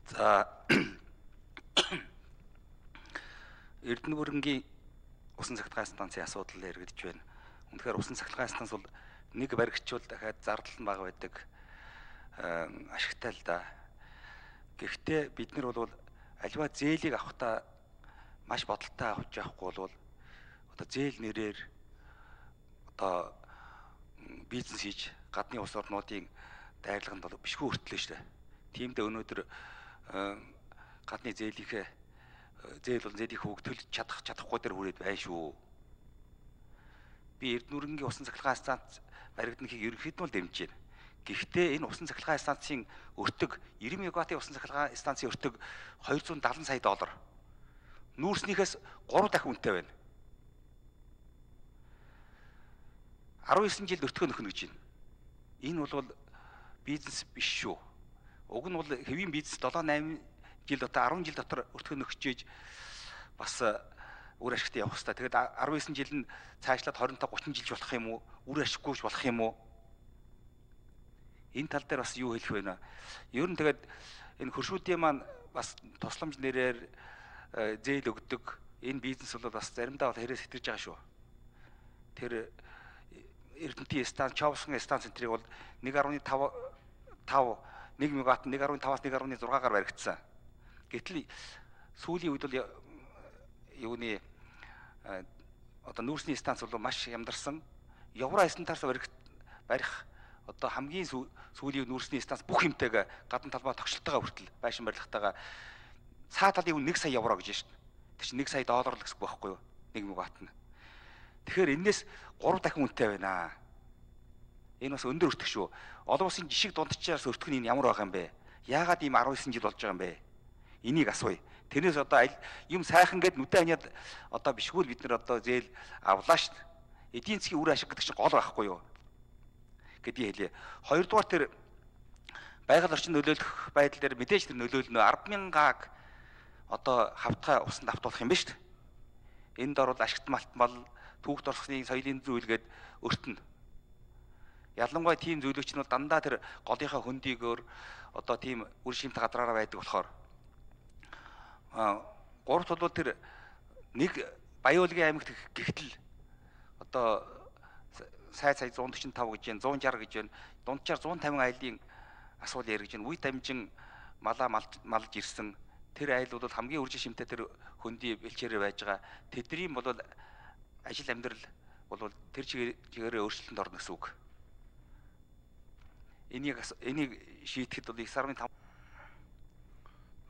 За Эрдэнэ бүрэнгийн усан цахилгаан станцын асуудал яригдж байна. Үнэхээр усан цахилгаан станц бол нэг баригчвал дахиад зардал нь бага байдаг ашигтай л да. Гэхдээ бид нар бол аливаа зээлийг авахдаа маш бодолтой авч явахгүй бол одоо зээл нэрээр одоо бизнес хийж гадны улс орнуудын дайрлаганд бол бишгүй өртлөө шүү дээ. Тиймдээ өнөөдөр гадны зээлийнхээ зээлийг хөгжүүлж чадахгүй дээр хүрээд байна шүү. Би Эрдэнэ бүрэнгийн усан цахилгаан станц баригднахыг ерөнхийдөө л дэмжиж байна. Гэхдээ энэ усан цахилгаан станцын өртөг 90 мегаваттын усан цахилгаан станцын өртөг $270 сая. Нүүрснийхээс 3 дахин үнэтэй байна. 19 жилд өртгөө нөхнө гэж байна. Энэ бол бизнес биш шүү. Уг нь бол хэвийн бизнес 7-8 жил дотор 10 жил дотор өртгөө нөхчээж бас үр ашигтай явах хэрэгтэй. Тэгээд 19 жил нь цаашлаад 25-30 жил болох юм уу? Үр ашиггүйч болох юм уу? Энэ тал дээр бас юу хэлэх вэ нэ? Ер нь тэгээд энэ хөршүүдийн маань бас тусламж нэрээр зээл өгдөг энэ бизнес бол бас заримдаа бол хэрэг сэтгэж байгаа шүү. Тэр Эрдэнэтийн станц, Чавсгийн станц центрийг бол 1.1 мегаватт 1.5-аас 1.6-гаар баригдсан. Гэтэл сүүлийн үед бол юуны одоо нүүрсний станц бол маш ямдарсан. Евро станцаас барих одоо хамгийн сүүлийн нүүрсний станц бүх хэмтэйгээ гадна талбай тогтчлолтойгоо хүртэл байшин барилгатайгаа цаа талын €1 сая гэж байна. Тэр чинь $1 сая л гэсэн үг байхгүй юу? 1 мегаватт нь. Тэгэхээр энэс 3 дахин үнэтэй байна. Энэ бас өндөр өртөг шүү. Олон улсын жишг дундчаас өртөх нь ямар байгаа юм бэ? Яагаад ийм 19 жил болж байгаа юм бэ? Энийг асууя. Тэрнээс одоо юм сайхан гэд нүдэ ханиад одоо бишгүй бид нар одоо зээл авлаа шүү. Эдийн засгийн үр ашиг гэдэг чинь гол байхгүй юу? Гэдгийг хэлье. Хоёрдугаар тэр байгаль орчин нөлөөлөх байдал дээр мэдээж тэр нөлөөлнө 10,000-аг одоо хавтгай усанд автуулах юм ба шүү. Энд орвол ашигт малтмал түүхт орсны соёлын зүйлгээд өртөнө. Ялангуяа тийм зөвлөгч нь бол дандаа тэр голынхаа хөндийгөөр одоо тийм үр шимт гадраараа байдаг болохоор гуравт бол тэр нэг Баяуулгийн аймагт гихтэл одоо сая 145 гэж байна, 160 гэж байна. Дунджаар 150 айлын асуудал яригдж байна. Үе дамжин малаа малж ирсэн. Тэр айл бол хамгийн үржин шимтэй тэр хөндөй бэлчээрээ байж байгаа. Тэдний бол ажил амьдрал бол тэр чигээрээ өөрчлөлтөнд орно гэсэн үг. Энийг шийдэхэд бол 9.5.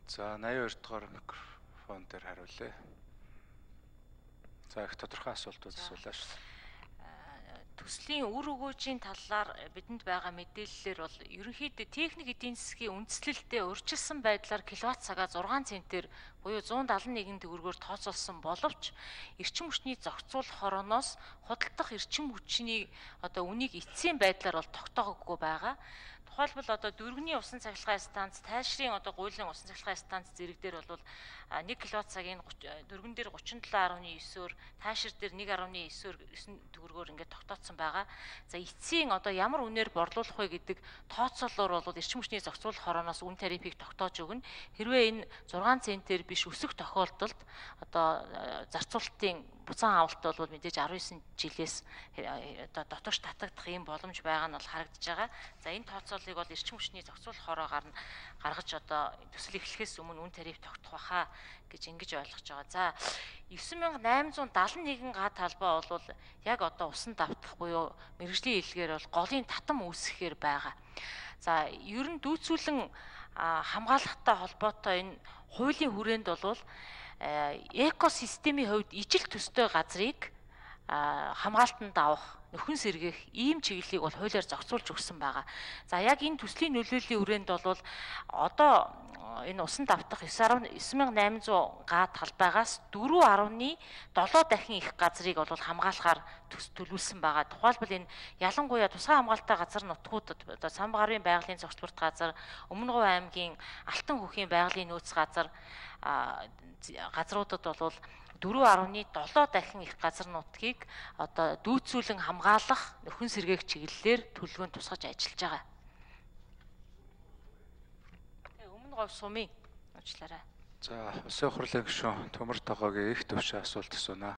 За 82 дугаар микрофон дээр хариулъя. За их тодорхой асуултууд асуулаа шүү. Төслийн үр өгөөжийн талаар бидэнд байгаа мэдээллээр бол ерөнхийдөө техник эдийн засгийн үндэслэлтэд урьдчилсан байдлаар киловатт цагаа 6 центээр буюу 171 төгрөгөөр тооцоолсон боловч эрчим хүчний зохицуулах хорооноос худалдах эрчим хүчний одоо үнийг эцсийн байдлаар бол тогтоогоогүй байгаа. Тухайлбал одоо дөрвөний усан цахилгаан станц, тайлшрын одоо гуйлын усан цахилгаан станц зэрэг дээр бол 1 киловатт цагийн дөрвөн дээр 37.9-оор, тайлшир дээр 1.9-оор 9 төгрөгөөр ингээд тогтооцсон байгаа. За эцсийн одоо ямар үнээр борлуулах вэ гэдэг тооцоолоор бол эрчим хүчний зохицуулах хорооноос үн тарифыг тогтоож өгнө. Хэрвээ энэ 6 центээр биш өсөх тохиолдолд одоо зарцуулалтын буцаан авалт бол мэдээж 19 жилээс одоо дотогш татагдах юм боломж байгаа нь бол харагдаж байгаа. За энэ тооцоолыг бол эрчим хүчний зохицуулах хороогаар нь гаргаж одоо төсөл эхлэхээс өмнө үн тариф тогтох баха гэж ингэж ойлгож байгаа. За 9871 га талбай бол яг одоо усан давтах буюу мэргэжлийн хэлгээр бол голын татам үүсгэхээр байгаа. За ер нь дүүцүүлэн хамгаалалттай холбоотой энэ хуулийн хүрээнд бол экосистемийн хувьд ижил төстэй газрыг хамгаалтанд авах, нөхөн сэргээх ийм чиглэлийг бол хуулиар зохицуулж өгсөн байгаа. За яг энэ төслийн нөлөөллийн хүрээнд бол одоо энэ усан давтах 9800 га талбайгаас 4.7 дахин их газрыг бол хамгаалахаар төлөвлөсөн байгаа. Тухайлбал энэ ялангуяа тусгай хамгаалалттай газар нутгуудад одоо Самбарын байгалийн цогцлборт газар, Өмнөговь аймгийн Алтан хүүхийн байгалийн нөөц газар газруудад бол 4.7 дахин их газар нутгийг одоо дүүцүүлэн хамгаалах нөхөн сэргээх чиглэлээр төлөвлөгөөнд тусгаж ажиллаж байгаа. Өмнөговь сумын уучлаарай. За, Улсын хурлын гишүүн Төмөр Тогоогийн их төвшин асуулт асууна.